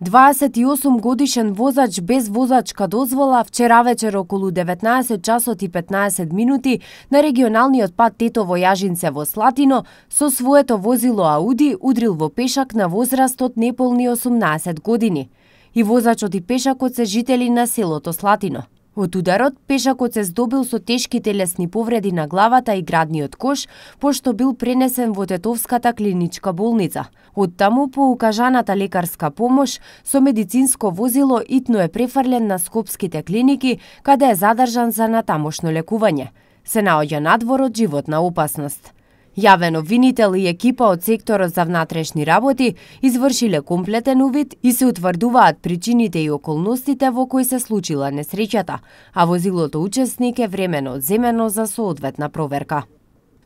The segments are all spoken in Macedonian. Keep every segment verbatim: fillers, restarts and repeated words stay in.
дваесет и осум годишен возач без возачка дозвола вчера вечер околу деветнаесет часот и петнаесет минути на регионалниот пат Тетово Јажинце во Слатино со своето возило Ауди удрил во пешак на возраст од неполни осумнаесет години. И возачот и пешакот се жители на селото Слатино. Од ударот, пешакот се здобил со тешки телесни повреди на главата и градниот кош, пошто бил пренесен во Тетовската клиничка болница. Од таму, по укажаната лекарска помош, со медицинско возило итно е префрлен на скопските клиники, каде е задржан за натамошно лекување. Се наоѓа надвор од животна опасност. Јавен обвинител и екипа од секторот за внатрешни работи извршиле комплетен увид и се утврдуваат причините и околностите во кои се случила несреќата, а возилото учесник е времено одземено за соодветна проверка.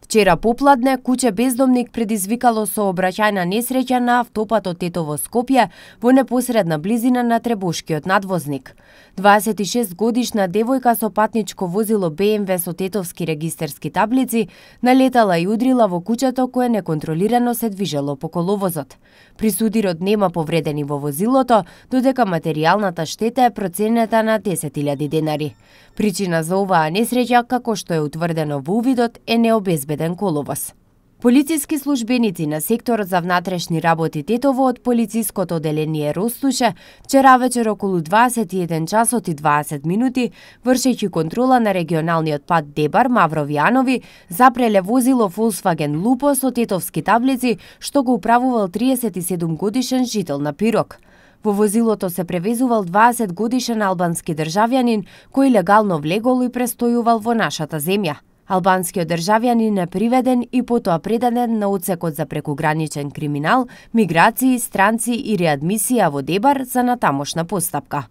Вчера попладне, куќе бездомник предизвикало сообраќајна несреќа на автопатот Тетово-Скопје во непосредна близина на Требошкиот надвозник. дваесет и шест годишна девојка со патничко возило Б М В со тетовски регистерски таблици налетала и удрила во куќето кое неконтролирано се движело по коловозот. Присудирот нема повредени во возилото, додека материјалната штета е проценета на десет илјади денари. Причина за оваа несреќа, како што е утврдено во увидот, е необезбеден коловоз. Полициски службеници на секторот за внатрешни работи Тетово од полициското оделение Ростуше вчера вечер околу дваесет и еден часот и дваесет минути, вршејќи контрола на регионалниот пат Дебар Маврови Анови, запреле возило Volkswagen Lupo со тетовски таблици што го управувал триесет и седум годишен жител на Пирок. Во возилото се превезувал дваесет годишен албански државјанин кој легално влегол и престојувал во нашата земја. Албанскиот државјанин е приведен и потоа предаден на одсекот за прекуграничен криминал, миграции, странци и реадмисија во Дебар за натамошна постапка.